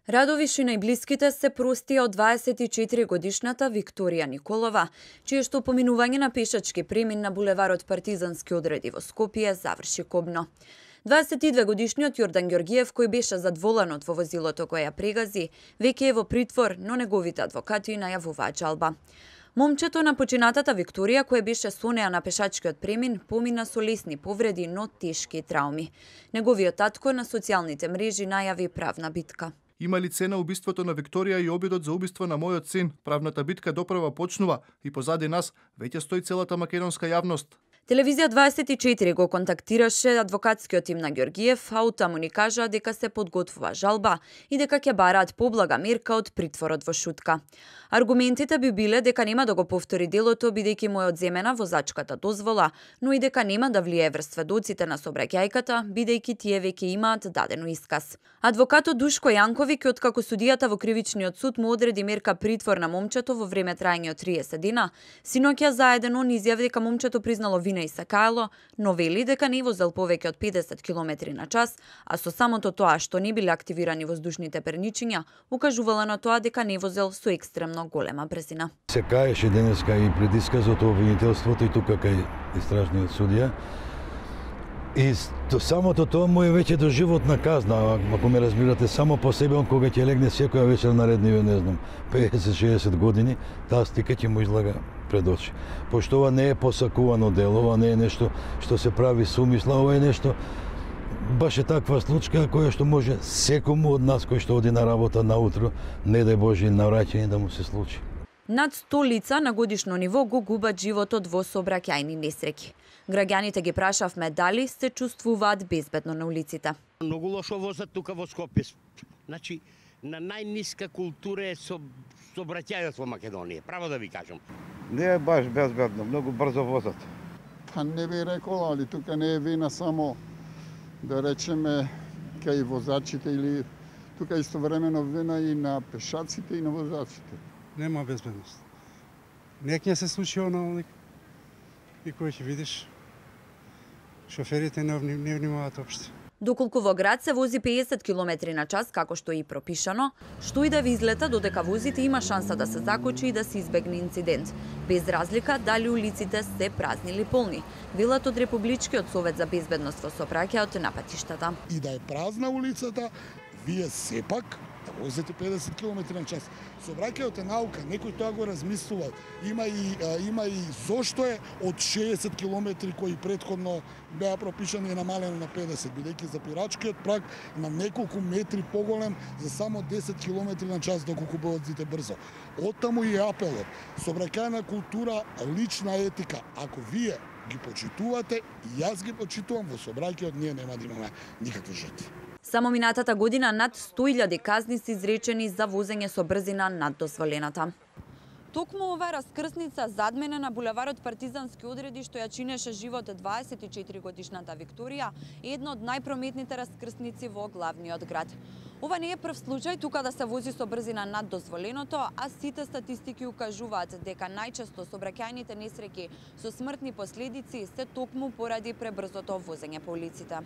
Радовиш и најблиските се простија од 24-годишната Викторија Николова, чие што поминување на пешачки премин на булеварот Партизански одреди во Скопје заврши кобно. 22-годишниот Јордан Ѓоргиев, кој беше задволен од во возилото кое ја прегази, веќе е во притвор, но неговите адвокати најавуваат жалба. Момчето на починатата Викторија, кој беше со неа на пешачкиот премин, помина со лесни повреди, но тешки трауми. Неговиот татко на социјалните мрежи најави правна битка. Има ли цена убиството на Викторија и обидот за убиство на мојот син? Правната битка доправа почнува и позади нас веќе стои целата македонска јавност. Телевизија 24 го контактираше адвокатскиот тим на Ѓоргиев, а оттаму ни кажа дека се подготвува жалба и дека ќе бараат поблага мерка од притворот во Шутка. Аргументите би биле дека нема да го повтори делото бидејќи му е одземена возачката дозвола, но и дека нема да влие врз сведоците на сообраќајката, бидејќи тие веќе имаат дадено исказ. Адвокатот Душко Јанковиќ, откако судијата во кривичниот суд му одреди мерка притвор на момчето во време траење од 30 дена, синоќа заедно ни изјави дека момчето признало вина и се каело, но вели дека не возел повеќе од 50 км на час, а со самото тоа што не биле активирани воздушните перничиња, укажувала на тоа дека не возел со екстремно голема брзина. Се каеше денеска и пред исказот обвинителството и тука кај истражниот судија. И самото тоа му е веќе доживотна казна, ако ме разбирате, само по себе он кога ќе легне секоја вечер наредниве, не знам, 50-60 години, таа стика ќе му излага пред очи. Пошто ова не е посакувано дело, ова не е нешто што се прави со умисла, ова е нешто баш е таква случка која што може секому од нас кој што оди на работа наутро, не дај Боже на враќање да му се случи. Над 100 лица на годишно ниво го губат животот во сообраќајни несреќи. Граѓаните ги прашавме дали се чувствуваат безбедно на улиците. Многу лошо возат тука во Скопје. Значи, на најниска култура е сообраќајот во Македонија, право да ви кажам. Не е баш безбедно, многу брзо возат. Па не би рекол, али тука не е вина само, да речеме, кај возачите или тука истовремено вина и на пешаците и на возачите. Нема безбедност. Нек не се случи оно и кој ќе видиш, шоферите не внимаваат општо. Доколку во град се вози 50 км на час, како што е и пропишано, што и да ви излета додека возите има шанса да се закочи и да се избегне инцидент, без разлика дали улиците се празни или полни, велат од Републичкиот совет за безбедност во сообраќајот на патиштата. И да е празна улицата, вие сепак да возите 50 км на час. Сообраќајот е наука, некој тоа го размислува. Има и зошто е од 60 км кои претходно беа пропишани и намалено на 50, бидејќи запирачкиот праг на неколку метри поголем за само 10 км на час доколку возите брзо. Оттаму и апелот. Сообраќајна култура, лична етика. Ако вие ги почитувате, и јас ги почитувам, во сообраќајот ние нема да имаме никакви жртви. Само минатата година над 100.000 казни се изречени за возење со брзина над дозволената. Токму ова раскрсница зад мене на булеварот Партизански одреди што ја чинеше живот 24-годишната Викторија е една од најпрометните раскрсници во главниот град. Ова не е прв случај тука да се вози со брзина над дозволеното, а сите статистики укажуваат дека најчесто сообраќајните несреќи со смртни последици се токму поради пребрзото возење по улиците.